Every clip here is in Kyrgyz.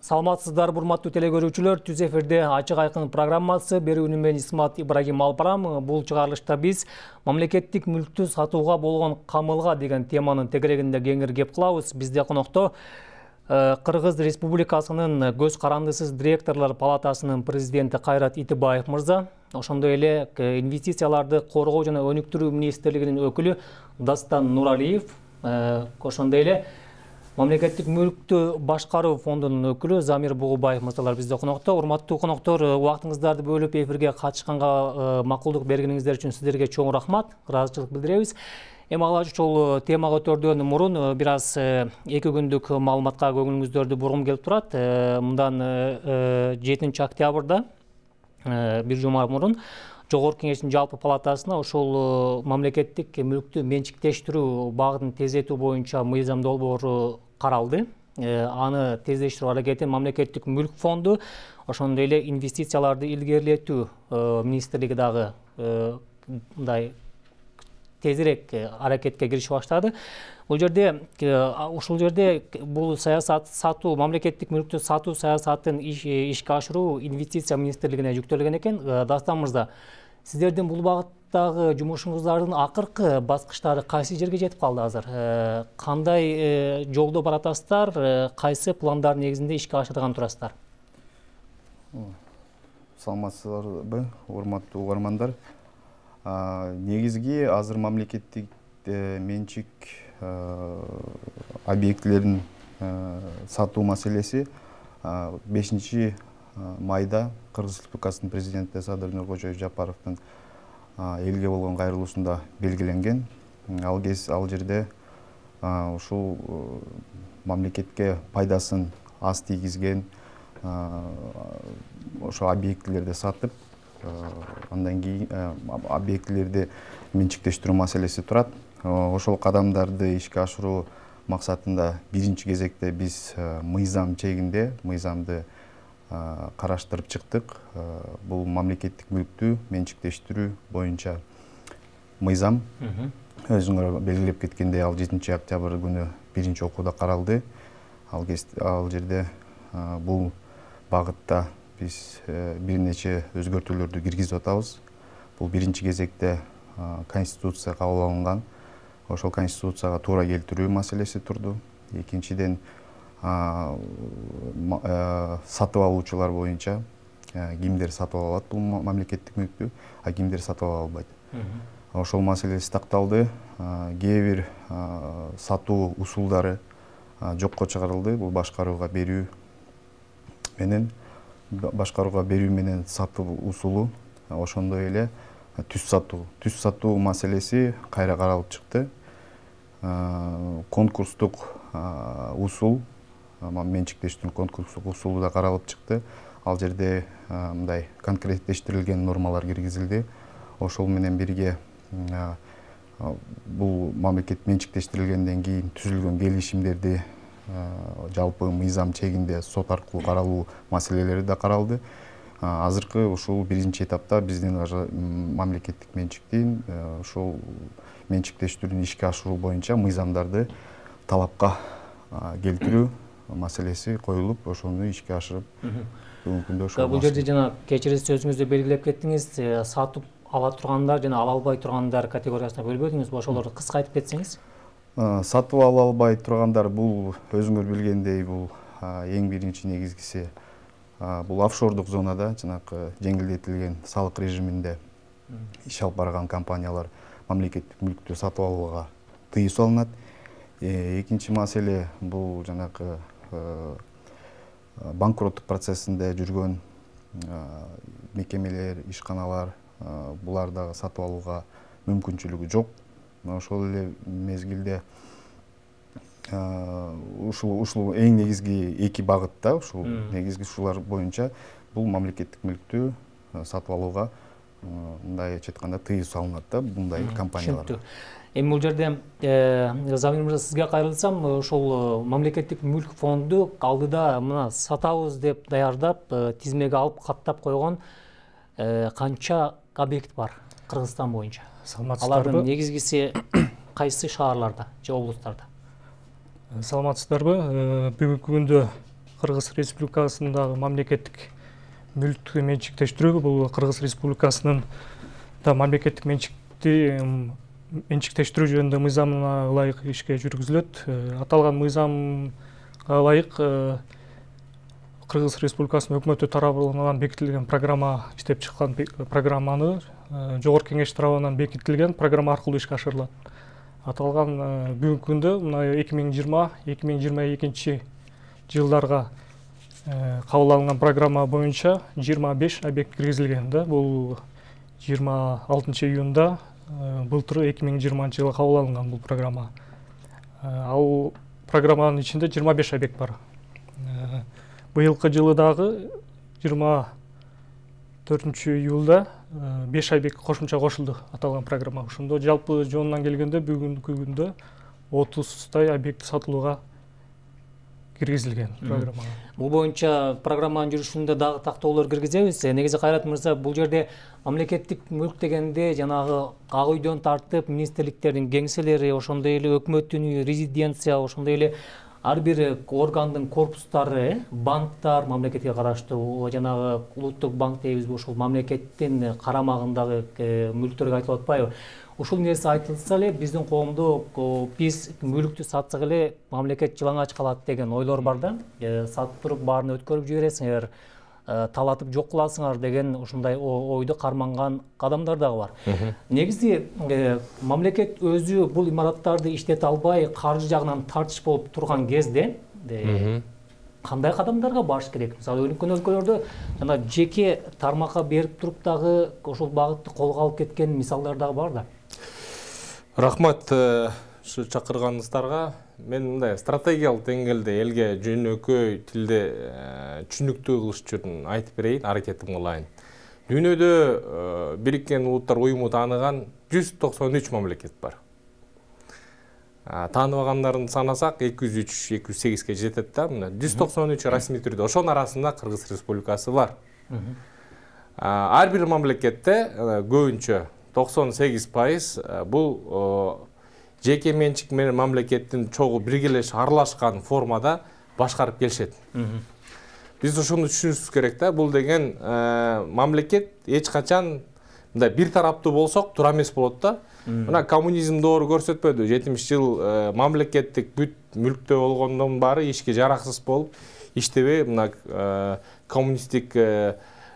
Саламатсыздар, урматтуу телекөрүүчүлөр. Түз эфирде ачык айкын программасы. Берүүнү мен Исмат Ибрагим Алпарам. Бул чыгарылышта биз мамлекеттик мүлктү сатууга болгон камылга деген теманын тегерегинде кеңири кеп кылабыз. Бизде конокто Кыргыз Республикасынын көз карандысыз директорлор палатасынын президенти Кайрат Итибаев мырза, ошондой эле инвестицияларды коргоо жана өнүктүрүү министрлигинин өкүлү Дастан Нуралиев, ошондой эле Мамлекеттик мүлктү башкаруу фондунун өкүлү Замир Бугубаев мырзалар бизде конокто. Урматтуу коноктор, убактыңыздарды бөлүп эфирге катышканга макулдук бергениңиздер үчүн сиздерге чоң рахмат, ыраазычылык билдиребиз. Эми ала ушул тема көтөрүүдөн мурун бир аз 2 күндүк маалыматка көңүлүңүздөрдү бургум келип турат. Мындан 7 октябрда бир жума мурун Жогорку Кеңештин жалпы палатасына ошол мамлекеттик мүлктү менчиктештирүү багытын тездетүү боюнча мыйзам долбоору каралды. Аны тездештирүү аракетин мамлекеттик мүлк фонду, ошондой эле инвестицияларды илгерилетүү министрлиги дагы мындай тезирээк аракетке киришип баштады. Ушул жерде бул саясат сатуу, мамлекеттик мүлктү сатуу саясатын ишке ашыруу инвестиция министрлигине жүктөлгөн экен. Дастан мырза, сиздердин бул багыттагы жумушуңуздардын акыркы баскычтары кайсы жерге жетип калды азыр? Кандай жолдо баратасыздар? Кайсы пландар негизинде ишке ашырган турасыздар? Саламатсыздарбы, урматтуу угармандар. Негизги азыр мамлекеттик менчик объектилерин сатуу маселеси 5 майда Кыргыз Республикасынын президенти Садыр Нуркожоев Жапаровдун элге болгон кайрылуусунда белгиленген. Ал жерде ушул мамлекетке пайдасын аз тийгизген ошол объектилерди сатып, андан кийин объектилерди менчиктештирүү маселеси турат. Ошол кадамдарды ишке ашыруу максатында биринчи кезекте биз мыйзам чегинде мыйзамды караштырып чыктык. Бул мамлекеттик мүлктү менчиктештирүү боюнча мыйзам өзүңөр белгилеп кеткендей, ал 7 октябрь күнү биринчи окууда каралды. Ал жерде бул багытта биз бир нече өзгөртүүлөрдү киргизип атабыз. Бул биринчи кезекте конституция кабыл алынган. Ошол конституцияга туура келтирүү маселеси турду. Экинчиден, сатып алуучулар боюнча кимдер сатып алат бул мамлекеттик мүлктү, а кимдер сатып ала албайт. Ошол маселеси такталды. Кээ бир сатуу усулдары жокко чыгарылды. Бул башкарууга берүү менен сатуу усулу, ошондой эле түз сатуу маселеси кайра каралып чыкты. Конкурстук усул, менчиктештирүү конкурстук усулу да каралып чыкты. Ал жерде мындай конкреттештирилген нормалар киргизилди. Ошол менен бирге бул мамлекет менчиктештирилгенден кийин түзүлгөн келишимдерди жалпы мыйзам чегинде сот аркылуу каралуу маселелери да каралды. Азыркы ушул биринчи этапта биздин мамлекеттик менчиктин ушул менчиктештирүүнү ишке ашыруу боюнча мыйзамдарды талапка келтирүү маселеси коюлуп, ошону ишке ашырып бүгүнкү күндө ошол. Бул жерде жана кечириңиз сөзүңүздө белгилеп кеттиңиз, сатып ала тургандар жана ала албай тургандар категориясына бөлбөдүңүз. Ошолорду кыска айтып кетсеңиз. Сатып ала албай тургандар бул өзүңөр билгендей, бул эң биринчи негизгиси бул офшордук зонада, жанакы жеңилдетилген салык режиминде иш алып барган компаниялар мамлекеттик мүлктү сатып алууга тыюу салынат. Экинчи маселе бул жанакы банкроттук процессинде жүргөн мекемелер, ишканалар, булар дагы сатып алууга мүмкүнчүлүгү жок. Ошол эле мезгилде ушул эң негизги 2 багытта, ушул негизги ушулар боюнча бул мамлекеттик мүлктү сатып алууга мындай айтканда тыюу салынат да мындай компанияларга. Эми бул жерде Замир мырза, сизге кайрылсам, ошол мамлекеттик мүлк фонду алдыда мына сатабыз деп даярдап, тизмеге алып каттап койгон канча объект бар Кыргызстан боюнча? Алардын негизгиси кайсы шаарларда же облустарда? Саламатсыздарбы? Бүгүнкү күндө Кыргыз Республикасындагы мамлекеттик мүлктү менчиктештирүү бул Кыргыз Республикасынын да мамлекеттик менчиктештирүү жөнүндө мыйзамына ылайык ишке жүргүзүлөт. Аталган мыйзамга ылайык Кыргыз Республикасынын өкмөтү тарабынан бекитилген программа, иштеп чыккан программаны Жогорку Кеңеш тарабынан бекитилген программа аркылуу ишке ашырылат. Аталган бүгүнкү күндө мына 2020-2022 жылдарга кабыл алынган программа боюнча 25 объект киргизилген да. Бул 26 июнда былтыр 2020 жылы кабыл алынган бул программа. Ал программанын ичинде 25 объект бар. Быйылкы жылы дагы 24 июлда 5 объект кошумча кошулду аталган программа. Ошондо жалпы жонунан келгенде бүгүнкү күндө 30 объект сатылууга киргизилген программа. Бул боюнча программанын жүрүшүндө дагы тактоолор киргизебиз. Негизи Кайрат мырза, бул жерде мамлекеттик мүлк дегенде жанагы ак үйдөн тартып министрликтердин кеңселери, ошондой эле өкмөттүн үйү, резиденция, ошондой эле ар бир органдын корпустары, банктар, мамлекетке караштуу жанагы улуттук банк дейбизби, ошол мамлекеттин карамагындагы мүлктөргө айтылып атпайбы? Ушул нерсе айтылса эле биздин коомдо биз мүлктү сатсак эле мамлекет жылаңач калат деген ойлор бар да. Сатып туруп баарын өткөрүп жибересиңер, талатып жок кыласыңар деген ушундай ойду карманган адамдар дагы бар. Негизи мамлекет өзү бул имараттарды иштете албай, каржы жагынан тартыш болуп турган кезде кандай кадамдарга барыш керек? Мисалы, өнүккөн өлкөлөрдө жана жеке тармакка берип туруп дагы ошол багытты колго алып кеткен мисалдар дагы бар да. Рахмат ушу чакырганыңыздарга. Мен мындай стратегиялык деңгээлде элге жөнөкөй тилде түшүнүктүү кылыш үчүн айтып берейин, аракетим кылайын. Дүйнөдө Бириккен Улуттар Уюму тааныган 193 мамлекет бар. Тааныбагандарын санасак 203-208ге жетет да. 193 расмий түрдө. Ошонун арасында Кыргыз Республикасы бар. Ар бир мамлекетте көбүнчө 98% бул жеке менчик менен мамлекеттин чогуу биргелеш аралашкан формада башкарып келишет. Биз ошону түшүнүшүбүз керек да. Бул деген мамлекет эч качан мындай бир тараптуу болсок туура эмес болот да. Мына коммунизм доору көрсөтпөдү. 70 жыл мамлекеттик бүт мүлктө болгондон баары ишке жараксыз болуп, иштебей мына коммунисттик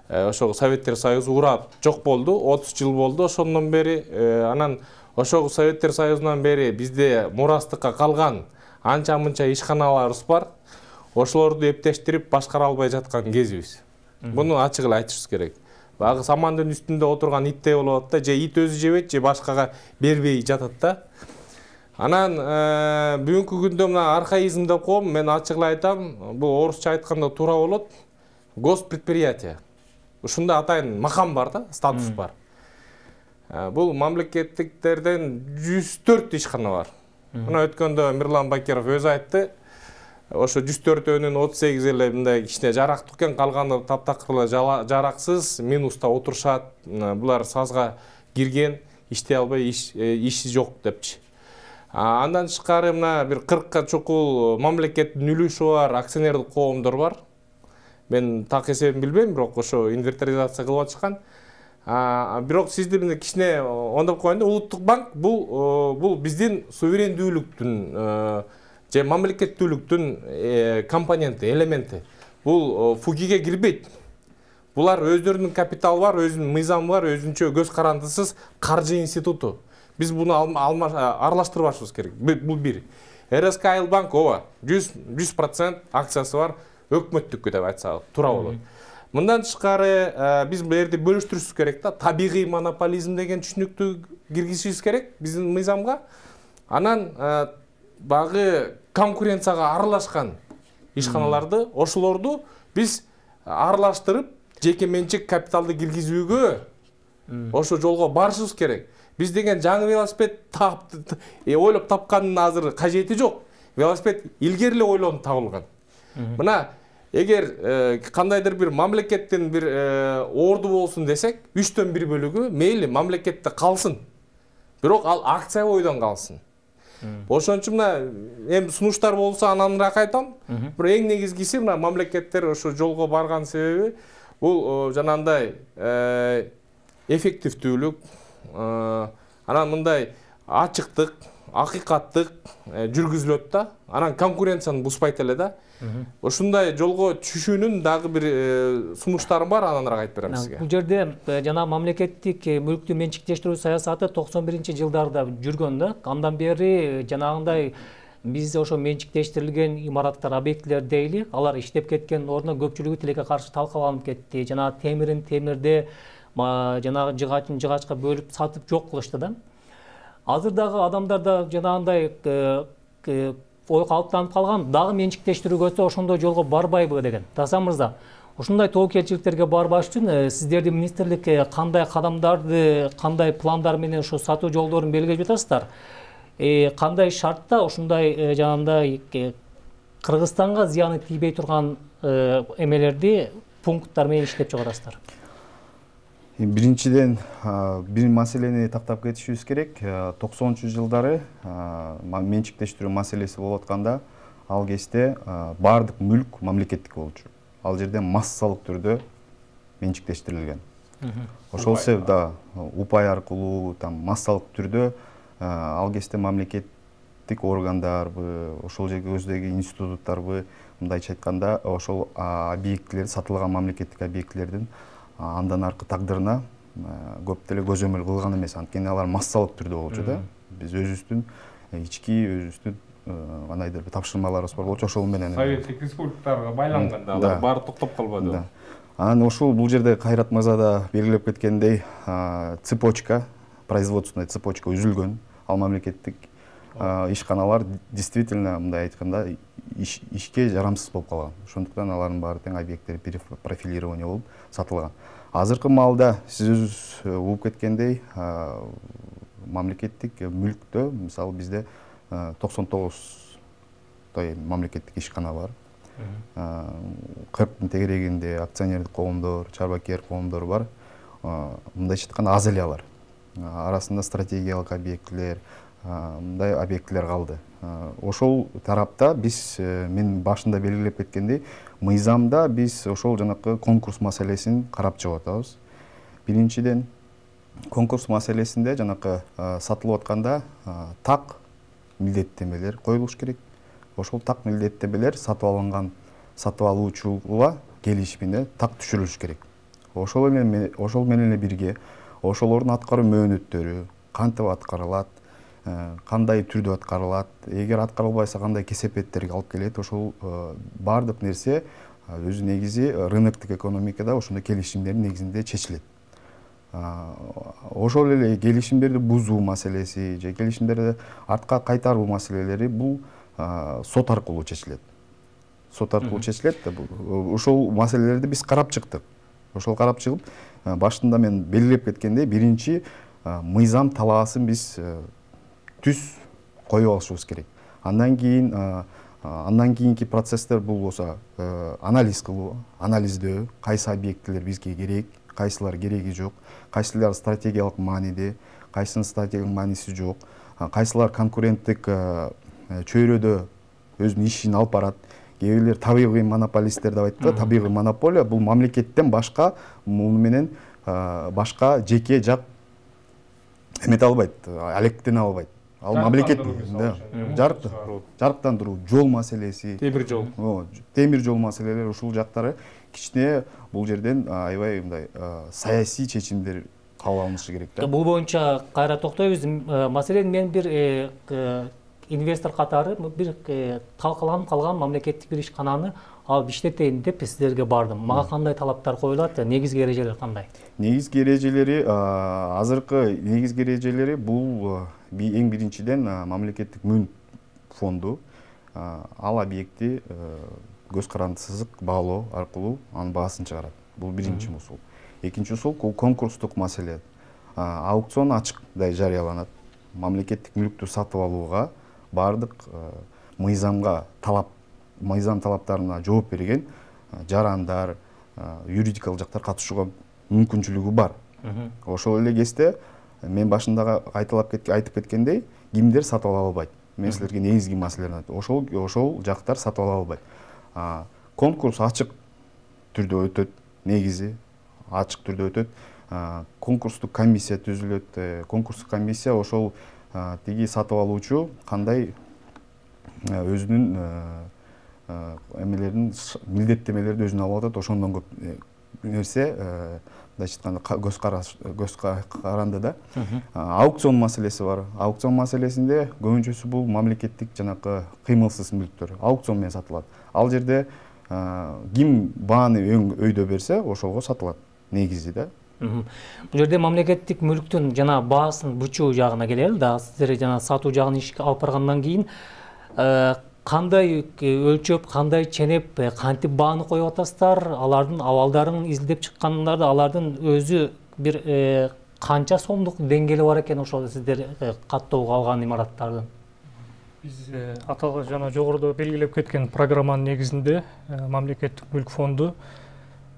ошол Советтер Союзу урап жок болду. 30 жыл болду ошондон бери. Анан ошол Советтер Союзунан бери бизде мурастыкка калган анча-мынча ишканаларыбыз бар. Ошолорду эптештирип башкара албай жаткан кезибиз. Буну ачык эле айтышыбыз керек. Багы самандын үстүндө отурган иттей болуп атат да, же ит өзү жебейт, же башкага бербей жатат да. Анан бүгүнкү күндө мына архаизм деп коем, мен ачык эле айтам, бул орусча айтканда туура болот. Госпредприятие. Ушунда атайын макам бар да, статус бар. Бул мамлекеттиктерден 104 ишкана бар. Мына өткөндө Мирлан Бакиров өзү айтты. Ошо 104-өнүн 38 эле мындай кичине жарактуу экен, калганы таптакыр жараксыз, минуста отурушат. Булар сазга кирген, иштей албай, иши жок депчи. Андан тышкары мына бир 40ка чукул мамлекеттин үлүшү бар, акционердик коомдор бар. Мен так эсебин билбейм, бирок ошо инвентаризация кылып атышкан. Бирок сизди мына кичине ондоп коеюн да, улуттук банк бул биздин суверендүүлүктүн же мамлекеттүүлүктүн компоненти, элементи. Бул фугиге кирбейт. Булар өздөрүнүн капиталы бар, өзүнүн мыйзамы бар, өзүнчө көз карандысыз каржы институту. Биз буну аралаштырбашыбыз керек. Бул бир. РСК Банк ооба 100% акциясы бар, өкмөттүккү деп айтсак туура болот. Мындан тышкары биз бул жерде бөлүштүрүшүбүз керек да. Табигый монополизм деген түшүнүктү киргизишибиз керек биздин мыйзамга. Анан багы конкуренцияга аралашкан ишканаларды, ошолорду биз аралаштырып, жеке менчик капиталды киргизүүгө ошо жолго барышыбыз керек. Биз деген жаңы велосипед ойлоп тапкандын азыр кажети жок. Велосипед илгери эле ойлонуп табылган. Мына эгер кандайдыр бир мамлекеттин бир орду болсун десек, 3/1 бөлүгү мейли мамлекетте калсын. Бирок ал акция бойдон калсын. Ошон үчүн мына эми сунуштар болсо ананраак айтам. Бирок эң негизгиси мына мамлекеттер ошо жолго барган себеби бул жанагындай эффективдүүлүк, анан мындай ачыктык, акыйкаттык жүргүзүлөт да. Анан конкуренцияны бузбайт эле да. Ошундай жолго түшүүнүн дагы бир сунуштары бар, ананраак айтып берем сизге. Бул жерде жана мамлекеттик мүлктү менчиктештирүү саясаты 91-жылдарда жүргөн да. Андан бери жанагындай биз ошо менчиктештирилген имараттар, объектилер дейли, алар иштеп кеткен ордуна көпчүлүгү тилекке каршы талкаланып кетти. Жана темирин темирде, жанагы жыгачын жыгачка бөлүп сатып жок кылышты да. Азыр дагы адамдарда жанагындай ой калыптанып калган, дагы менчиктештирүүгө ошондой жолго барбайбы деген. Тасан мырза, ушундай тобокелчиликтерге барбаш үчүн сиздердин министрлик кандай кадамдарды, кандай пландар менен ошо сатуу жолдорун белгилеп жатасыздар? Кандай шартта ушундай жанагындай Кыргызстанга зыяны тийбей турган эмелерди пункттар менен иштеп чыгарасыздар? Биринчиден бир маселени тактап кетишибиз керек. 90-жылдары менчиктештирүү маселеси болуп атканда ал кезде баардык мүлк мамлекеттик болчу. Ал жерде массалык түрдө менчиктештирилген. Ошол себепта упай аркылуу массалык түрдө ал кезде мамлекеттик органдарбы, ошол жерге көздөгү институттарбы, мындайча айтканда, ошол объектилер, сатылган мамлекеттик объектилердин андан аркы тагдырына көп деле көзөмөл кылган эмес. Анткени алар массалык түрдө болчу да. Биз өзүбүздүн ички өзүбүздүн кандайдыр бир тапшырмаларыбыз бар болчу, ошол менен Советтик республикаларга байланганда алар баары токтоп калбады. Анан ошол бул жерде Кайрат мырза да белгилеп кеткендей, цепочка, производственный цепочка үзүлгөн. Ал мамлекеттик ишканалар действительно мындай айтканда ишке жарамсыз болуп калган. Ошондуктан алардын баары тең объекттери перепрофилирование болуп сатылган. Азыркы маалда сиз өзүңүз угуп кеткендей, мамлекеттик мүлктө, мисалы бизде 99 мамлекеттик ишкана бар. 40 тегерегинде акционердик коомдор, чарбакер коомдор бар. Мындайча айтканда аз эле алар. Арасында стратегиялык объектилер, мындай объектилер калды. Ошол тарапта биз, мен башында белгилеп кеткендей, мыйзамда биз ошол жанакы конкурс маселесин карап чыгып атабыз. Биринчиден, конкурс маселесинде жанакы сатылып атканда так милдеттемелер коюлуш керек. Ошол так милдеттемелер сатып алуучуга келишимине так түшүрүлүш керек. Ошол менен бирге ошолордун аткаруу мөөнөттөрү кантип аткарылат, кандай түрдө аткарылат, эгер аткарылбайса кандай кесепеттерге алып келет, ошол баардык нерсе өзү негизи рыноктук экономикада ошондой келишимдердин негизинде чечилет. Ошол эле келишимдерди бузуу маселеси же келишимдерди артка кайтаруу маселелери бул сот аркылуу чечилет. Сот аркылуу чечилет. Ошол маселелерди биз карап чыктык. Ошол карап чыгып, башында мен белгилеп кеткендей, биринчи мыйзам талаасын биз түз коюп алышыбыз керек. Андан кийинки процесстер бул болсо анализ кылуу, анализдөө, кайсы объектилер бизге керек, кайсылар кереги жок, кайсылар стратегиялык мааниде, кайсынын стратегиялык мааниси жок, кайсылар конкуренттик чөйрөдө өзүнүн ишин алып барат. Кээ бирлер табигый монополисттер деп айтты. Табигый монополия бул мамлекеттен башка, муну менен башка жеке жак эмете албайт, алектене албайт. Ал мамлекет жарыктандыруу, жол маселеси, темир жол маселелери, ушул жактары кичине бул жерден аябай мындай саясий чечимдер кабыл алынышы керек да. Бул боюнча кайра токтойбуз. Маселен мен бир инвестор катары бир талкаланып калган мамлекеттик бир ишкананы алып иштетейин деп сиздерге бардым. Мага кандай талаптар коюлат? Негизги эрежелер кандай? Негизги эрежелери, азыркы негизги эрежелери бул эң биринчиден мамлекеттик мөн фонду ал объекти көз карандысыз баалоо аркылуу анын баасын чыгарат. Бул биринчи усул. Экинчи усул конкурстук маселе. Аукцион ачыктай жарыяланат. Мамлекеттик мүлктү сатып алууга бардык мыйзам талаптарына жооп берген жарандар, юридикалык жактар катышууга мүмкүнчүлүгү бар. Ошол эле кезде мен башында айтып кеткендей, кимдер сатып ала албайт. мен силерге негизги маселелерин айттым. Ошол жактар сатып ала албайт. Конкурс ачык түрдө өтөт, негизи ачык түрдө өтөт. Конкурстук комиссия түзүлөт. Конкурстук комиссия ошол тиги сатып алуучу кандай өзүнүн эмелерин, милдеттемелерди өзүнө алып атат, ошондон көп нерсе мындайча айтканда көз каранды да. Аукцион маселеси бар. Аукцион маселесинде көбүнчөсү бул мамлекеттик жанакы кыймылсыз мүлктөр аукцион менен сатылат. Ал жерде ким бааны эң өйдө берсе, ошолго сатылат негизи да. Бул жерде мамлекеттик мүлктүн жана баасын бычуу жагына келели да. Сиздер жана сатуу жагын ишке алып баргандан кийин кандай өлчөп, кандай ченеп, кантип бааны коюп атасыздар, алардын абалдарын изилдеп чыккандарда алардын өзү бир канча сомдук деңгээли бар экен ошол сиздер каттоого алган имараттардын? Биз аталган жана жогоруда белгилеп кеткен программанын негизинде мамлекеттик мүлк фонду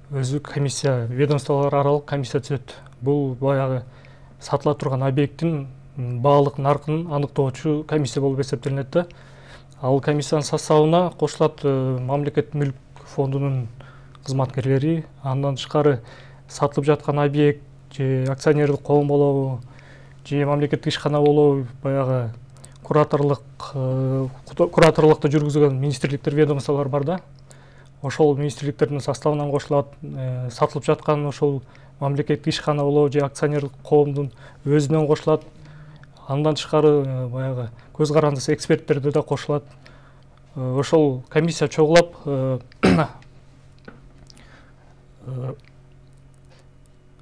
өзү комиссия, ведомстволор аралык комиссия түзөт. Бул баягы сатыла турган объекттин баалык наркын аныктоочу комиссия болуп эсептелинет да. Ал комиссиянын составына кошулат мамлекеттик мүлк фондунун кызматкерлери, андан тышкары сатылып жаткан объект же акционердик коом болобу, же мамлекеттик ишкана болобу, баягы кураторлукту жүргүзгөн министрликтер, ведомстволор бар да. Ошол министрликтердин составынан кошулат, сатылып жаткан ошол мамлекеттик ишкана болобу же акционердик коомдун өзүнөн кошулат. Андан тышкары баягы көз карандысы эксперттерди да кошулат. Ошол комиссия чогулап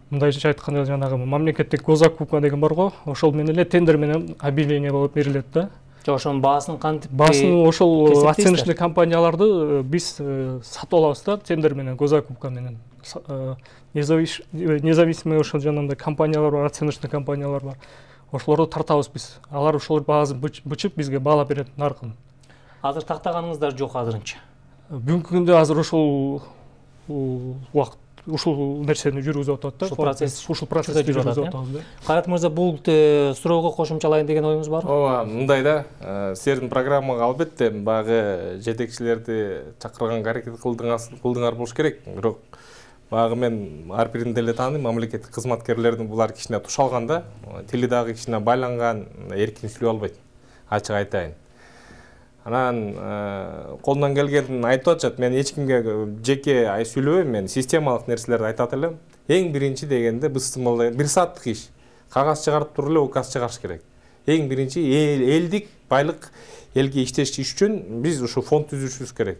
мындайча айтканда жанагы мамлекеттик госзакупка деген бар го, ошол менен эле тендер менен объявление болуп берилет да. Ошонун баасын кантип? Баасын ошол оценочный компанияларды биз сатып алабыз да, тендер менен, госзакупка менен. Независимый ошол жанагындай компаниялар бар, оценочный компаниялар бар. Ошолорду тартабыз биз. Алар ошол баасын бычып бизге баалап берет наркын. Азыр тактаганыңыздар жок азырынча. Бүгүнкү күндө азыр ошол убакыт ушул нерсени жүргүзүп атат да. Ушул процессти жүргүзүп атабыз да. Кайрат мырза, бул суроого кошумчалайын деген оюңуз барбы? Ооба, мындай да. Силердин программага албетте багы жетекчилерди чакырганга аракет кылдыңар болуш керек. Бирок багы мен ар бирин деле тааныйм, мамлекеттик кызматкерлердин булар кичине тушалган да. Тили дагы кичине байланган, эркин сүйлөй албайт. Ачык айтайын. Анан колунан келгенин айтып атышат. Мен эч кимге жеке сүйлөбөйм, мен системалык нерселерди айтат элем. Эң биринчи дегенде биз 1 сааттык иш. Кагаз чыгарып туруп эле указ чыгарыш керек. Эң биринчи элдик байлык элге иштеш үчүн биз ушу фонд түзүшүбүз керек.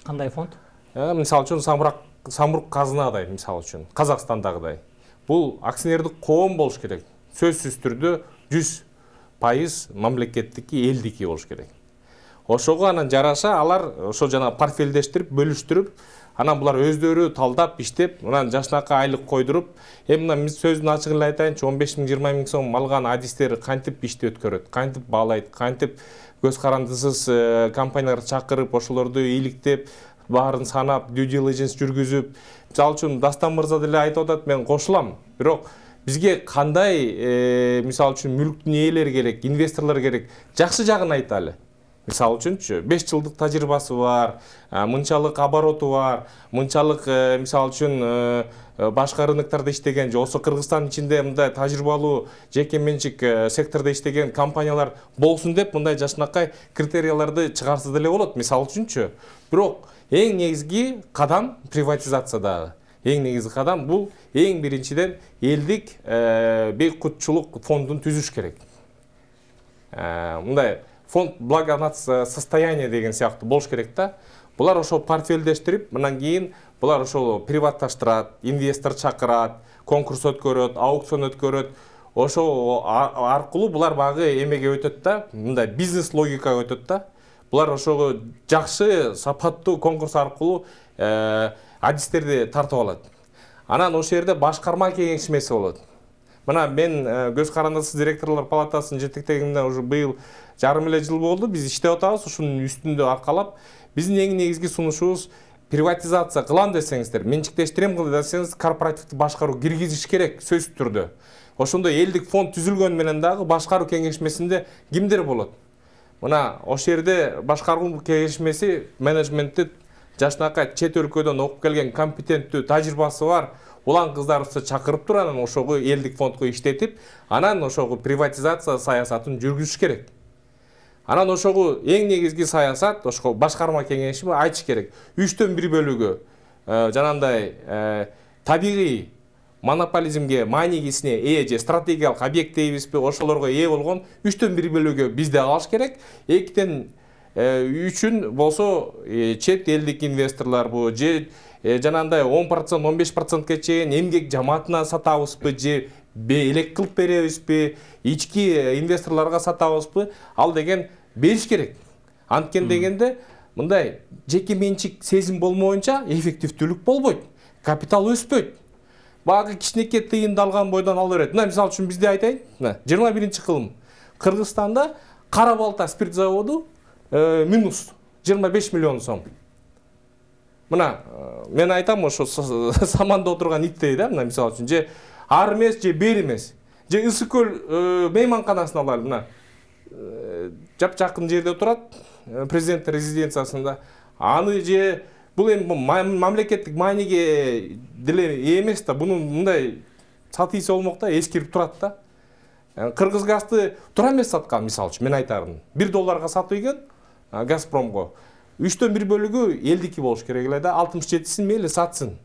Кандай фонд? Мисалы үчүн самрук казынадай, мисалы үчүн Казакстандагыдай. Бул акционердик коом болуш керек. Сөзсүз түрдө 100% мамлекеттики, элдики болуш керек. Ошого анан жараша алар ошо жана портфелдештирип, бөлүштүрүп, анан булар өздөрү талдап, иштеп, анан жашнакай айлык койдуруп, мына мен сөздүн ачыгын айтайынчы, 15 000, 20 000 сом алган адистер кантип ишти өткөрөт, кантип баалайт, кантип көз карандысыз компанияларды чакырып, ошолорду иликтеп, баарын санап, due diligence жүргүзүп, мисалы үчүн Дастан мырза деле айтып атат, мен кошулам. Бирок бизге кандай мисалы үчүн мүлктүн ээлери керек, инвесторлор керек, жакшы жагын айталы. Мисалы үчүнчү 5 жылдык тажрыйбасы бар, мынчалык обороту бар, мынчалык мисалы үчүн башка рыноктарда иштеген же осо Кыргызстан ичинде мындай тажрыйбалуу жеке менчик сектордо иштеген компаниялар болсун деп мындай жашнакай критерияларды чыгарса деле болот, мисалы үчүнчү. Бирок эң негизги кадам приватизациядагы. Эң негизги кадам бул эң биринчиден элдик бейкутчулук фондун түзүш керек. Мындай фонд благосостояния деген сыяктуу болуш керек да. Булар ошол портфелдештирип, мындан кийин булар ошол приватташтырат, инвестор чакырат, конкурс өткөрөт, аукцион өткөрөт. Ошол аркылуу булар багы эмеге өтөт да, мындай бизнес логикага өтөт да. Булар ошого жакшы, сапаттуу конкурс аркылуу адистерди тартып алат. Анан ошол жерде башкарма кеңешмеси болот. Мына мен көз карандысыз директорлор палатасынын жетектегимден уже быйыл жарым эле жыл болду. Биз иштеп атабыз, ушунун үстүндө аркалап. Биздин эң негизги сунушубуз приватизация кылам десеңиздер, менчиктештирем кыл десеңиз, корпоративдик башкаруу киргизиш керек сөзсүз түрдө. Ошондой элдик фонд түзүлгөн менен дагы башкаруу кеңешмесинде кимдер болот? мына ошол жерде башкаруу кеңешмеси менеджментти жашынакай чет өлкөдөн окуп келген компетенттүү тажрыйбасы бар улан кыздарыбызды чакырып туруп анан ошого элдик фондго иштетип, анан ошого приватизация саясатын жүргүзүш керек. Анан ошого эң негизги саясат ошого башкарма кеңеши айтыш керек. 1/3 бөлүгү жанагындай табигый монополизмге, маанигисине ээ же стратегиялык объект дейбизби, ошолорго ээ болгон 3/3 бөлүгү бизде калыш керек. 2/3 болсо чет элдик инвесторлор бу же жанагындай 10%, 15%ка чейин эмгек жамаатына сатабызбы же элек кылып беребизби, ички инвесторлорго сатабызбы, ал деген бериш керек. Анткен дегенде мындай жеке менчик сезим болмоюнча эффективдүүлүк болбойт, капитал өспөйт. Багы кичинекей тыйынды алган бойдон ала берет. Мына мисалы үчүн бизде айтайын, 21-кылым Кыргызстанда кара балта спирт заводу минус 25 миллион сом. Мына мен айтам, ошо саманда отурган иттей да, мына мисалы үчүн же ар эмес же бер эмес. Же Ысык көл мейманканасын алалы, мына жакын жерде турат, президент резиденциясында. Аны же бул эми мамлекеттик мааниге деле эмес да, буну мындай сатыйсы болмок да, эскирип турат да. Кыргызгазды тура эмес саткан, мисалы үчүн мен айтарым. $1 сатып ийген Газпромго. 3/3 бөлүгү элдики болуш керек эле да, 67-син мейли сатсын.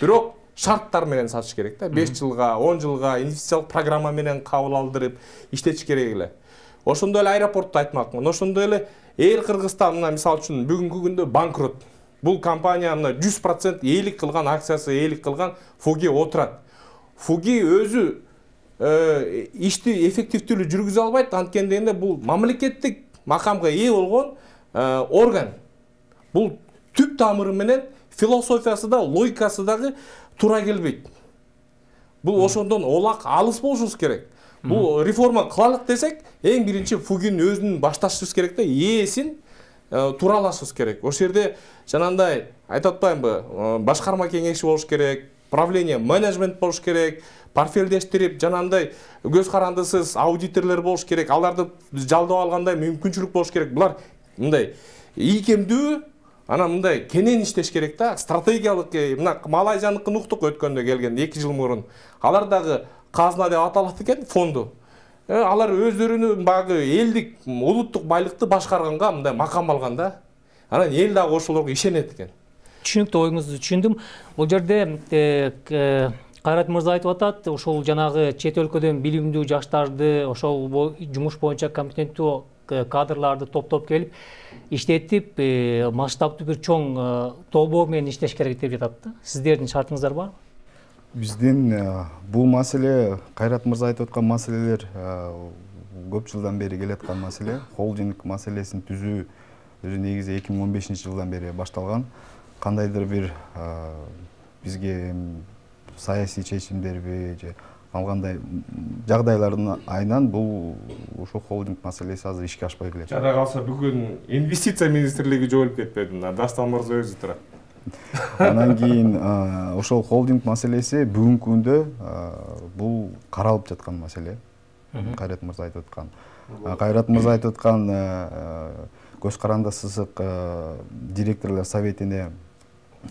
Бирок шарттар менен сатыш керек да. 5 жылга, 10 жылга инвестициялык программа менен кабыл алдырып иштетиш керек эле. Ошондой эле аэропортду айтмакмын. Ошондой эле Эйр Кыргызстан мына мисалы үчүн бүгүнкү күндө банкрот. Бул компания мына 100% ээлик кылган акциясы, ээлик кылган Фуги отурат. Фуги өзү ишти эффективдүүлүк жүргүзө албайт, анткени дегенде бул мамлекеттик макамга ээ болгон орган. Бул түп тамыры менен философиясы да, логикасы дагы туура келбейт. Бул ошондон олак алыс болушубуз керек. Бул реформа кылалык десек, эң биринчи Фугинин өзүнүн башташыбыз керек да, ээсин туралашыбыз керек. Ошол жерде жанагындай айтып атпаймынбы, башкарма кеңеши болуш керек, правление, менеджмент болуш керек, портфелдештирип, жанагындай көз карандысыз аудиторлор болуш керек, аларды жалдап алгандай мүмкүнчүлүк болуш керек. Булар мындай ийкемдүү, анан мындай кенен иштеш керек да. Стратегиялык, мына Малайзияныкын уктук өткөндө келген 2 жыл мурун. Алар дагы казына деп аталат экен, фонду. Алар өздөрүнүн багы элдик, улуттук байлыкты башкарганга мындай макам алган да. Анан эл дагы ошолорго ишенет экен. Түшүнүктүү, оюңузду түшүндүм. Бул жерде Кайрат мырза айтып атат, ошол жанагы чет өлкөдөн билимдүү жаштарды, ошол жумуш боюнча компетенттүү кадрларды топтоп келип, иштетип, масштабтуу бир чоң тобо менен иштеш керек деп жатат да. Сиздердин шартыңыздар барбы? Биздин бул маселе, Кайрат мырза айтып аткан маселелер көп жылдан бери келаткан маселе. Холдинг маселесин түзүү өзү негизи 2015-жылдан бери башталган. Кандайдыр бир бизге саясий чечимдерби же алгандай жагдайлардын айынан бул ошо холдинг маселеси азыр ишке ашпай келет. Жада калса бүгүн инвестиция министрлиги жоюлуп кетпеди, Дастан мырза өзү турат. Анан кийин ошол холдинг маселеси бүгүнкү күндө бул каралып жаткан маселе. Кайрат мырза айтып аткан. Кайрат мырза айтып аткан көз каранда сызык директорлор советине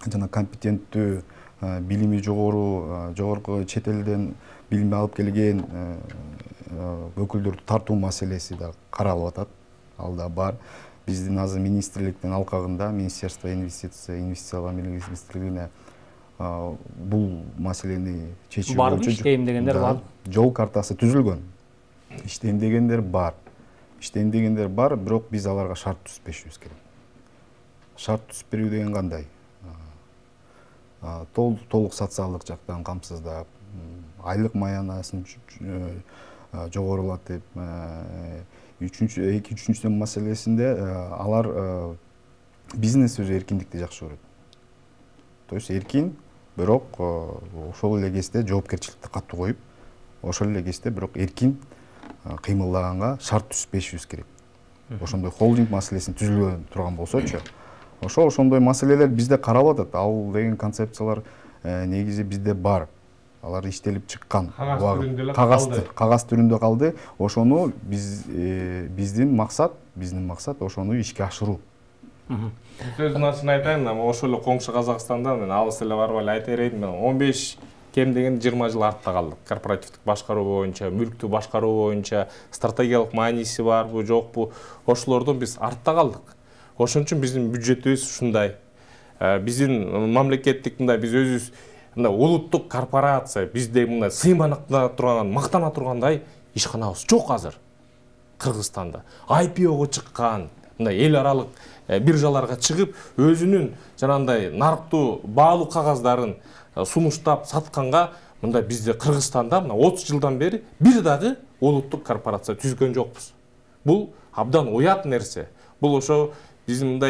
жана компетенттүү билими жогорку чет элден билим алып келген өкүлдөрдү тартуу маселеси да каралып атат. Ал да бар. Биздин азыр министрликтин алкагында, Министерство инвестициялар министрлигине бул маселени чечүү боюнча иштейм дегендер бар. Жол картасы түзүлгөн. Иштейм дегендер бар. Бирок биз аларга шарт түзбөшүбүз керек. Шарт түзүп берүү деген кандай? Толук социалдык жактан камсыздап, айлык маянасын жогорулатып, үчүнчү маселесинде алар бизнес өзү эркиндикти жакшы көрөт. То есть эркин, бирок ошол эле кезде жоопкерчиликти катуу коюп, ошол эле кезде бирок эркин кыймылдаганга шарт түзбөшүбүз керек. Ошондой холдинг маселесин түзүлө турган болсочу, ошондой маселелер бизде каралып атат. Ал деген концепциялар негизи бизде бар. алар иштелип чыккан кагаз түрүндө калды. Ошону биздин максат ошону ишке ашыруу. Сөздүн ачыгын айтайын, ошол эле коңшу Казакстанда мен алыс эле барбай эле айта берейин, 15 кем деген 20 жыл артта калдык. Корпоративдик башкаруу боюнча, мүлктү башкаруу боюнча стратегиялык мааниси барбы, жокпу, ошолордон биз артта калдык. Ошон үчүн биздин бюджетибиз ушундай. Биздин мамлекеттик биз өзүбүз улуттук корпорация, бизде сыйманыкта турган, мактана тургандай ишканабыз жок азыр. Кыргызстанда IPO-го чыккан, эл аралык биржаларга чыгып, өзүнүн жанагындай нарыктуу баалуу кагаздарын сунуштап сатканга, бизде Кыргызстанда 30 жылдан бери бир дагы улуттук корпорация түзгөн жокпуз. Бул абдан уят нерсе. Бул ошо биздин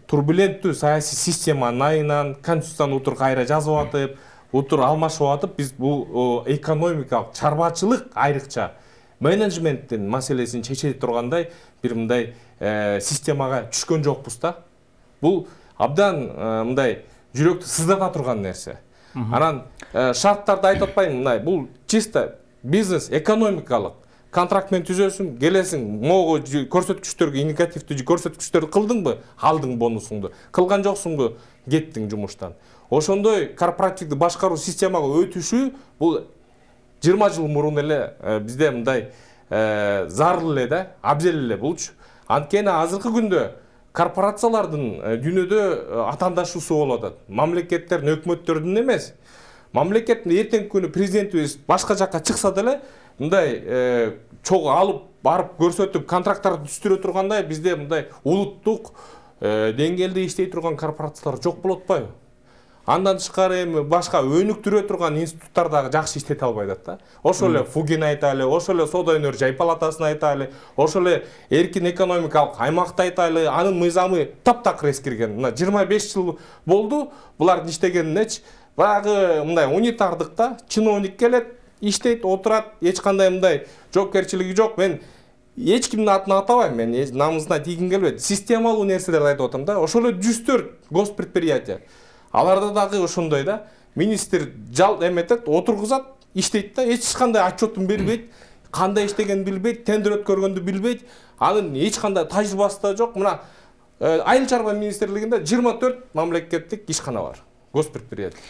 турбуленттүү саясий системанын айынан конституцияны утур кайра жазып атып, утур алмашып атып, биз бул экономикалык чарбачылык айрыкча менеджменттин маселесин чече тургандай бир системага түшкөн жокпуз да. Бул абдан жүрөктү сыздата турган нерсе. Анан шарттарды айтып атпайм, бул чисто бизнес, экономикалык контракт менен түзөсүң, келесиң, могу көрсөткүчтөргө негативдүү көрсөткүчтөрдү кылдыңбы, алдың бонусуңду, кылган жоксуңбу, кеттиң жумуштан. Ошондой корпоративдик башкаруу системага өтүшү бул 20 жыл мурун эле бизде зарыл эле да, абзел эле болчу. Анткени азыркы күндө корпорациялардын дүйнөдө атаандашуусу болуп атат. Мамлекеттердин, өкмөттөрдүн эмес. Мамлекеттин эртеңки күнү президентибиз башка жакка чыкса деле, чогуу алып барып көрсөтүп контракттарды түзүрө тургандай бизде улуттук деңгээлде иштей турган корпорациялар жок болуп атпайбы? Андан тышкары эми башка өнүктүрө турган институттар дагы жакшы иштете албай атат да. Ошол эле Фугин айталы, ошол эле Соода өнөр жай палатасын айталы, ошол эле эркин экономикалык аймакты айталы, анын мыйзамы таптакыр эскирген. 25 жыл болду булардын иштегенинечи. Баягы унитардыкта чиновник келет, иштейт, отурат, эч кандай жоопкерчилиги жок. Мен эч кимдин атын атабайм, мен намысына тийгим келбейт. Системалуу нерселерди айтып атам да. Ошол эле 104 госпредприятие. Аларда дагы ошондой да. Министр эметет, отургузат, иштейт да, эч кандай отчетун бербейт, кандай иштегенин билбейт, тендер өткөргөндү билбейт. Анын эч кандай тажрыйбасы да жок. Мына Айыл чарба министрлигинде 24 мамлекеттик ишкана бар, госпредприятие.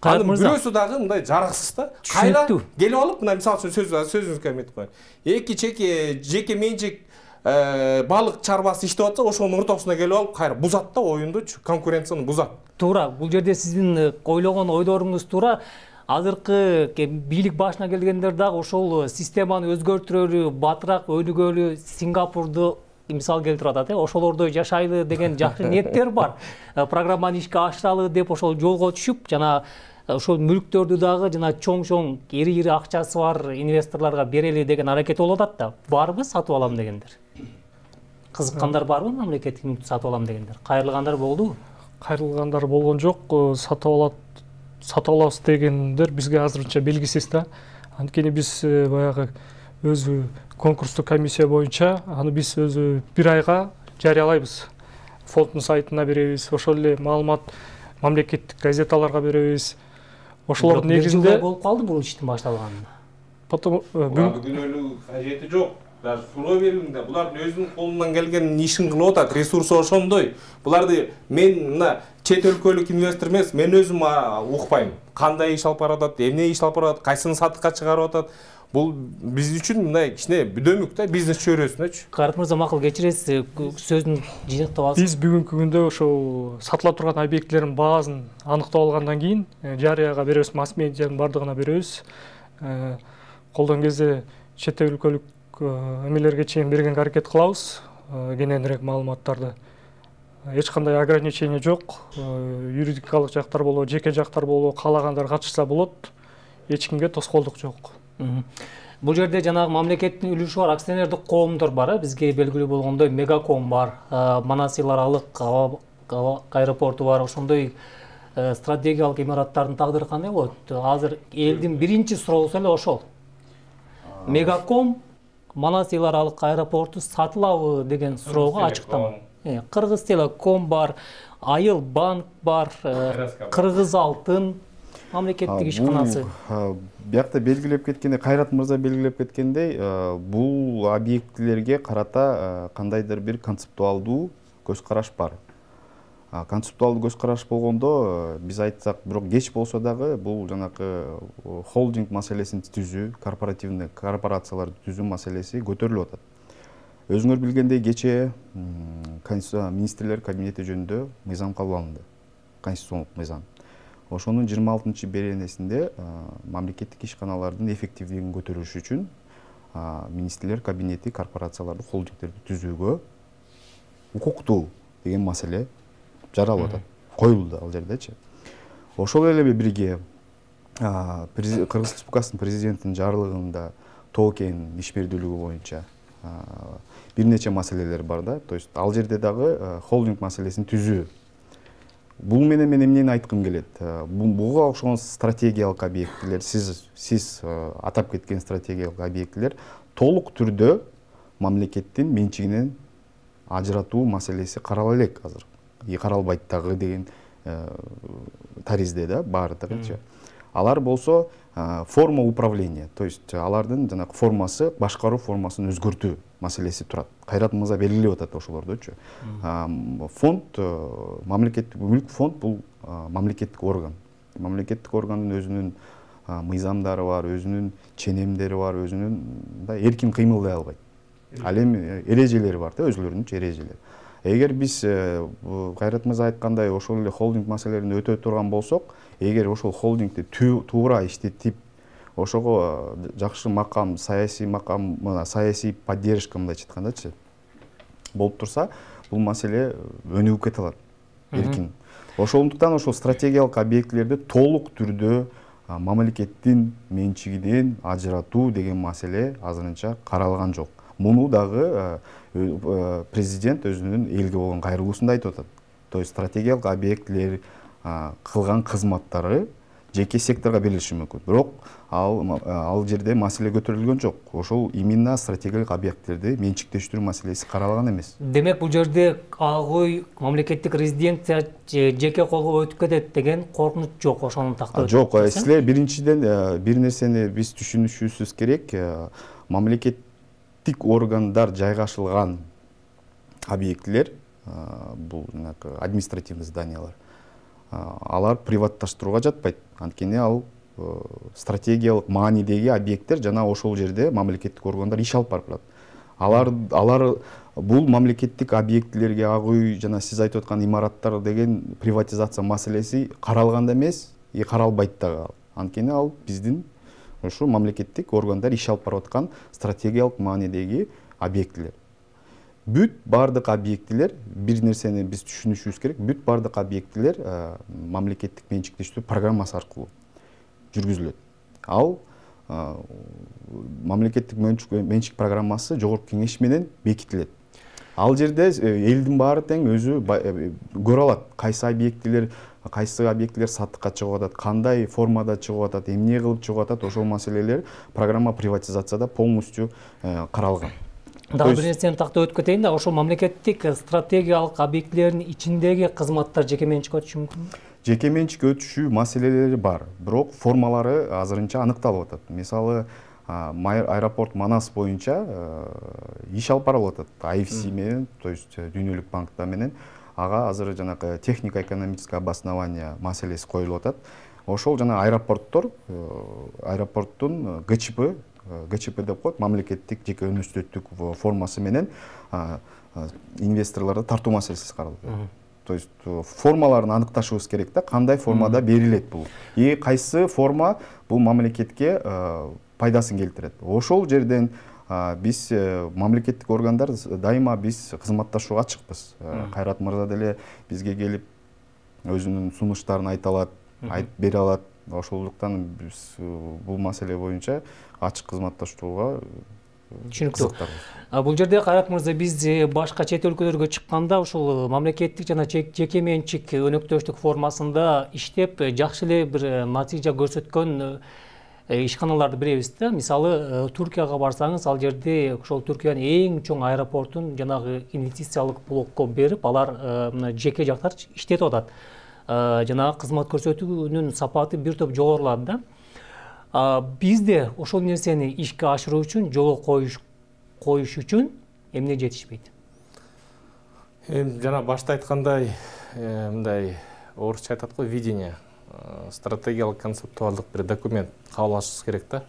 Анын бирөөсү дагы мындай жараксыз да. Кайра келип алып, мисалы үчүн сөзүңүзгө эметип коеюн. Эки жеке менчик балык чарбасы иштеп атса, ошонун ортосуна келип алып, кайра бузат да оюндучу, конкуренцияны бузат. Туура, бул жерде сиздин ойлогон ойдоруңуз туура. Азыркы бийлик башына келгендер дагы ошол системаны өзгөртүрөлү, батыраак өнүгөлү, Сингапурду мисал келтирип атат, ошолордой жашайлы деген жакшы ниеттер бар. Программаны ишке ашыралы деп ошол жолго түшүп, жана ошол мүлктөрдү дагы жана чоң ири акчасы бар инвесторлорго берели деген аракет болуп атат да. Барбы сатып алам дегендер? Кызыккандар барбы мамлекеттик мүлктү сатып алам дегендер? Кайрылгандар болдубу? Кайрылгандар болгон жок. Сатып алабыз дегендер бизге азырынча белгисиз да. Анткени биз баягы өзү конкурстук комиссия боюнча аны биз өзү бир айга жарыялайбыз. Фонддун сайтына беребиз, ошол эле маалымат мамлекеттик газеталарга беребиз. Ошолордун негизинде болуп калды бул иштин башталганына. Потом күнөөлүү кажети жок. Даже суроо берилгенде булардын өзүнүн колунан келген ишин кылып атат, ресурсу ошондой. Буларды мен мына чет өлкөлүк инвестор эмес, мен өзүм укпайм. Кандай иш алып баратат, эмне иш алып баратат, кайсыны сатыкка чыгарып атат. Бул биз үчүн мындай кичине бүдөмүк да, бизнес чөйрөсүнөчү. Кайрат мырза, макул кечиресиз, сөзүн жыйнактап алсыз. Биз бүгүнкү күндө ошол сатыла турган объектилердин баасын аныктап алгандан кийин жарыяга беребиз, масс медианын бардыгына беребиз. Колдон кезде чет өлкөлүк эмелерге чейин бергенге аракет кылабыз, кененирээк маалыматтарды. Эч кандай ограничение жок. Юридикалык жактар болобу, жеке жактар болобу, каалагандар катышса болот. Эч кимге тоскоолдук жок. Бул жерде жанагы мамлекеттин үлүшү бар, акционердик коомдор бар. Бизге белгилүү болгондой Мегаком бар, Манас эл аралык аэропорту бар. Ошондой стратегиялык имараттардын тагдыры кандай болот? Азыр элдин биринчи суроосу эле ошол. Мегаком Манас эл аралык аэропорту сатылабы деген суроого ачыктам. Кыргыз Телеком бар, Айыл банк бар, Кыргыз Алтын, мамлекеттик ишканасы? Биякта белгилеп кеткендей, Кайрат мырза белгилеп кеткендей, бул объектилерге карата кандайдыр бир концептуалдуу көз караш бар. Концептуалдуу көз караш болгондо биз айтсак, бирок кеч болсо дагы бул жанакы холдинг маселесин түзүү, корпоративный корпорацияларды түзүү маселеси көтөрүлүп атат. Өзүңөр билгендей, кечээ министрлер кабинети жөнүндө мыйзам кабыл алынды, конституциондук мыйзам. Ошонун 26-беренесинде мамлекеттик ишканалардын эффективдүүлүгүн көтөрүш үчүн министрлер кабинети корпорацияларды, холдингдерди түзүүгө укуктуу деген маселе жаралып атат, коюлду ал жердечи. Ошол эле бирге Кыргыз Республикасынын президентинин жарлыгында токен ишмердүүлүгү боюнча бир нече маселелер бар да. То есть ал жерде дагы холдинг маселесин түзүү. Бул менен мен эмнени айткым келет? Буга окшогон стратегиялык объектилер, сиз атап кеткен стратегиялык объектилер толук түрдө мамлекеттин менчигинен ажыратуу маселеси карала элек азыр. Каралбайт дагы деген таризде да баардыгычы. Алар болсо форма управления, то есть алардын жанагы формасы, башкаруу формасын өзгөртүү маселеси турат. Кайрат мырза белгилеп атат ошолордучу. Фонд, мамлекеттик мүлк фонд бул мамлекеттик орган. Мамлекеттик органдын өзүнүн мыйзамдары бар, өзүнүн ченемдери бар, өзүнүн эркин кыймылдай албайт. Ал эми эрежелери бар да, өзүлөрүнүн эрежелери. Эгер биз Кайрат мырза айткандай ошол эле холдинг маселелерин өтө турган болсок, эгер ошол холдингди туура иштетип, ошого жакшы макам, саясий поддержка мындайча айткандачы болуп турса, бул маселе өнүгүп кете алат эркин. Ошондуктан ошол стратегиялык объектилерди толук түрдө мамлекеттин менчигинен ажыратуу деген маселе азырынча каралган жок. Муну дагы президент өзүнүн элге болгон кайрылуусунда айтып атат. То есть стратегиялык объектилер кылган кызматтары жеке секторго берилиши мүмкүн. Бирок ал жерде маселе көтөрүлгөн жок. Ошол именно стратегиялык объектилерди менчиктештирүү маселеси каралган эмес. Демек бул жерде ой мамлекеттик резиденция жеке колго өтүп кетет деген коркунуч жок, ошону тактап. Жок, силер биринчиден бир нерсени биз түшүнүшүбүз керек. Мамлекеттик органдар жайгашылган объектилер, бул административный зданиялар, алар приватташтырууга жатпайт. Анткени ал стратегиялык маанидеги объекттер жана ошол жерде мамлекеттик органдар иш алып барып атат. Алар бул мамлекеттик объектилерге агуу жана сиз айтып аткан имараттар деген приватизация маселеси каралган эмес, каралбайт дагы. Анткени ал биздин ошо мамлекеттик органдар иш алып барып аткан стратегиялык маанидеги объектилер. Бүт бардык объектилер, бир нерсени биз түшүнүшүбүз керек, бүт бардык объектилер мамлекеттик менчиктештирүү программасы аркылуу жүргүзүлөт. Ал мамлекеттик менчик программасы жогорку кеңеш менен бекитилет. Ал жерде элдин баары тең өзү көрө алат, кайсы объектилер саттыкка чыгып атат, кандай формада чыгып атат, эмне кылып чыгып атат, ошол маселелер программа приватизацияда полностью каралган. Дагы бир нерсени тактап өтүп кетейин да, ошол мамлекеттик стратегиялык объектилердин ичиндеги кызматтар жеке менчикке өтүшү мүмкүнбү? Жеке менчикке өтүшүү маселелери бар, бирок формалары азырынча аныкталып атат. Мисалы, аэропорт Манас боюнча иш алып барылып атат. IFC менен, то есть Дүйнөлүк банкта менен ага азыр жанагы технико-экономическое обоснование маселеси коюлуп атат. Ошол жана аэропорттун ГЧП деп коет, мамлекеттик жеке өнөктүктүк формасы менен инвесторлорду тартуу маселеси каралып атат. То есть формаларын аныкташыбыз керек да, кандай формада берилет бул. Кайсы форма бул мамлекетке пайдасын келтирет. Ошол жерден биз мамлекеттик органдар дайыма биз кызматташууга ачыкпыз. Кайрат мырза деле бизге келип өзүнүн сунуштарын айта алат, айтып бере алат. Ошондуктан биз бул маселе боюнча ачык кызматташууга түшүнүктүү. Бул жерде Кайрат мырза, биз башка чет өлкөлөргө чыкканда ушул мамлекеттик жана жеке менчик өнөктөштүк формасында иштеп жакшы эле бир натыйжа көрсөткөн ишканаларды билебиз да. Мисалы, Туркияга барсаңыз, ал жерде ошол Түркиянын эң чоң аэропортун жанагы инвестициялык блокко берип, алар жеке жактар иштетип атат. жанагы кызмат көрсөтүүнүн сапаты бир топ жогорулады да. Бизде ошол нерсени ишке ашыруу үчүн, жолго коюш үчүн эмне жетишпейт? Жана башта айткандай, мындай орусча айтат го, видение, стратегиялык концептуалдык бир документ кабыл алышыбыз керек да.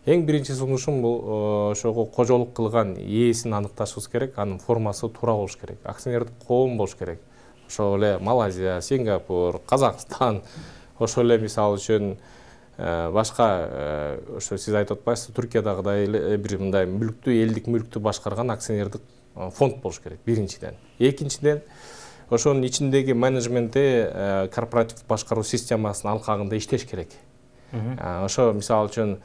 Эң биринчи сунушум бул ошого кожолук кылган ээсин аныкташыбыз керек, анын формасы туура болуш керек, акционердик коом болуш керек. Ошол эле Малайзия, Сингапур, Казакстан, ошол эле мисалы үчүн башка ошо сиз айтып атпайсызбы, Туркиядагыдай бир мындай мүлктү, элдик мүлктү башкарган акционердик фонд болуш керек биринчиден. Экинчиден, ошонун ичиндеги менеджменти корпоративдик башкаруу системасынын алкагында иштеш керек. Ошо мисалы үчүн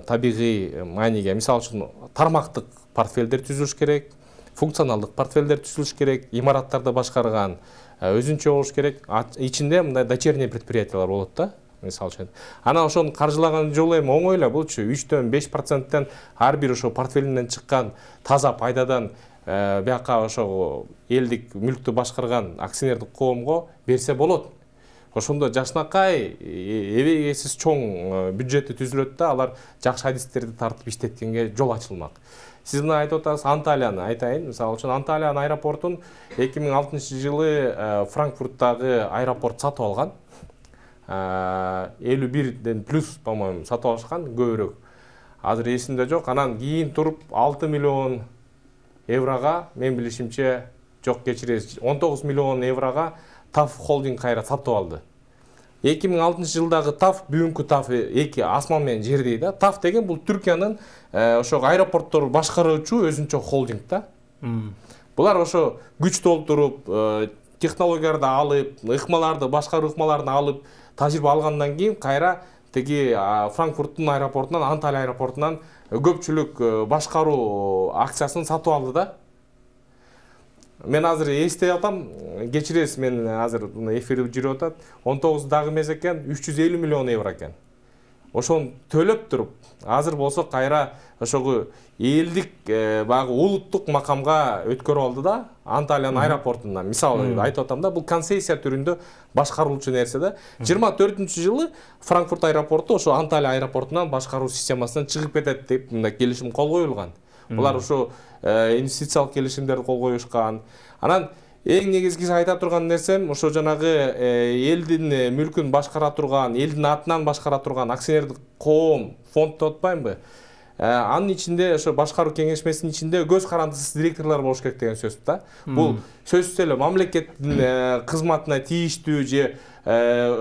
табигый мааниге, мисалы үчүн тармактык портфелдер түзүлүш керек, функционалдык портфелдер түзүлүш керек, имараттарды башкарган өзүнчө болуш керек. Ичинде мындай дочерний предприятиялар болот да, мисалы үчүн. Анан ошону каржылаган жолу эми оңой эле, булчу 3-5%-тен ар бир ошо портфелинен чыккан таза пайдадан бияка ошо элдик мүлктү башкарган акционердик коомго берсе болот. Ошондо жакшынакай эбегейсиз чоң бюджети түзүлөт да, алар жакшы адистерди тартып иштеткенге жол ачылмак. Сиз мына айтып атасыз, Анталияны айтайын. Мисалы үчүн Анталиянын аэропортун 2006-жылы Франкфурттагы аэропорт сатып алган. 51ден плюс, по-моему, сатып алышкан, көбүрөөк. Азыр эсимде жок. Анан кийин туруп 6 миллион еврога, мен билишимче, жок кечиресиз, 19 миллион еврога ТАФ холдинг кайра сатып алды. 2006-жылдагы ТАФ, бүгүнкү ТАФ эки асман менен жердей да. ТАФ деген бул Түркиянын ошо аэропортторду башкаруучу өзүнчө холдинг да. Булар ошо күч толтуруп, технологияларды алып, ыкмаларды, башкаруу ыкмаларын алып, тажрыйба алгандан кийин кайра теги Франкфурттун аэропортунан, Анталия аэропортунан көпчүлүк башкаруу акциясын сатып алды да. Мен азыр эстей атам, кечиресиз, мен азыр эфирде жүрүп атат, 19 дагы эмес экен, 350 миллион евро экен. Ошону төлөп туруп, азыр болсо кайра ошого элдик баягы улуттук макамга өткөрүп алды да, Анталиянын аэропортунан. Мисалы айтып атам да, бул концессия түрүндө башкарылчу нерсе да. 24-жылы Франкфурт аэропорту ошо Анталия аэропортунан башкаруу системасынан чыгып кетет деп мындай келишим кол коюлган. Булар ошо инвестициялык келишимдерди кол коюшкан. Анан эң негизгиси айта турган нерсем, ошо жанагы элдин мүлкүн башкара турган, элдин атынан башкара турган акционердик коом, фонд деп атпаймынбы? Анын ичинде ошо башкаруу кеңешмесинин ичинде көз карандысыз директорлор болуш керек деген сөз да. Бул сөзсүз эле мамлекеттин кызматына тийиштүү же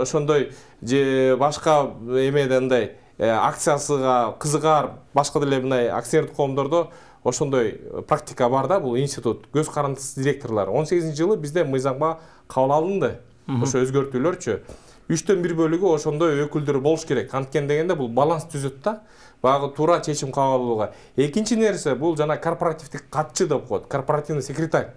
ошондой же башка эмеден мындай акциясыга кызыгар башка деле мындай акционердик коомдордо ошондой практика бар да, бул институт көз карандысыз директорлор. 18-жылы бизде мыйзамга кабыл алынды. Ошо өзгөртүүлөрчү. 3/1 бөлүгү ошондой өкүлдөр болуш керек. Анткени дегенде бул баланс түзөт да. Багы туура чечим кабыл алууга. Экинчи нерсе бул жана корпоративдик катчы деп коет, корпоративный секретарь.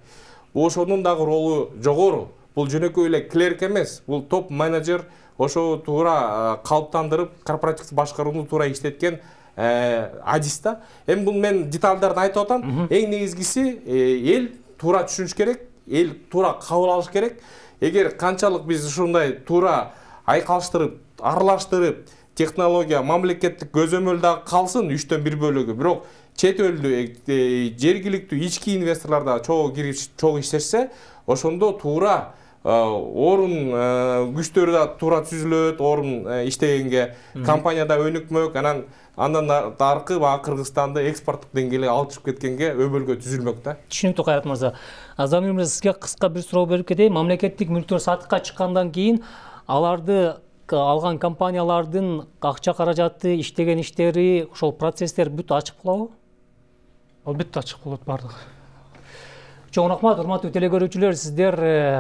Ошонун дагы ролу жогору. Бул жөнөкөй эле клерк эмес, бул топ менеджер, ошо туура калыптандырып, корпоративдик башкарууну туура иштеткен адис да. Эми бул мен деталдарын айтып атам. Эң негизгиси эл туура түшүнүш керек, эл туура кабыл алыш керек. Эгер канчалык биз ушундай туура айкалыштырып, аралаштырып, технология, мамлекеттик көзөмөлдө калсын 3/1 бөлүгү, бирок чет элдүү, жергиликтүү ички инвесторлор да чогуу кирип, чогуу иштешсе, ошондо туура орун күчтөрү да туура түзүлөт, орун иштегенге, компанияда өнүкмөк, андан аркы баягы Кыргызстанды экспорттук деңгээлге алып чыгып кеткенге өбөлгө түзүлмөк да. Түшүнүктүү, Кайрат мырза. Замир мырза, сизге кыска бир суроо берип кетейин. Мамлекеттик мүлктөр сатыкка чыккандан кийин аларды алган компаниялардын акча каражаты, иштеген иштери, ошол процесстер бүт ачык болобу? Албетте ачык болот бардыгы. Чоң рахмат, урматтуу телекөрүүчүлөр, сиздер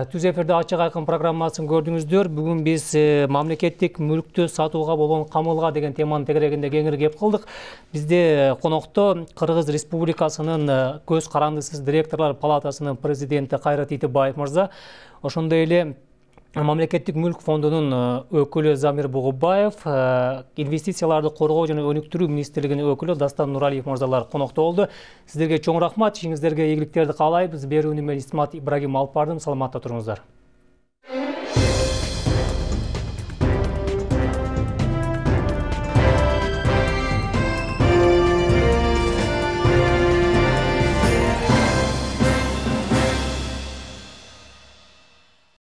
Түз эфирде ачык айкын программасын көрдүңүздөр. Бүгүн биз мамлекеттик мүлктү сатууга болгон камылга деген теманын тегерегинде кеңири кеп кылдык. Бизде конокто Кыргыз Республикасынын көз карандысыз директорлор палатасынын президенти Кайрат Итибаев мырза, ошондой эле Мамлекеттик мүлк фондунун өкүлү Замир Бугубаев, инвестицияларды коргоо жана өнүктүрүү министрлигинин өкүлү Дастан Нуралиев мырзалар конокто болду. Сиздерге чоң рахмат, ишиңиздерге ийгиликтерди каалайбыз. Берүүнү мен Исмат Ибрагим алып бардым. Саламатта туруңуздар.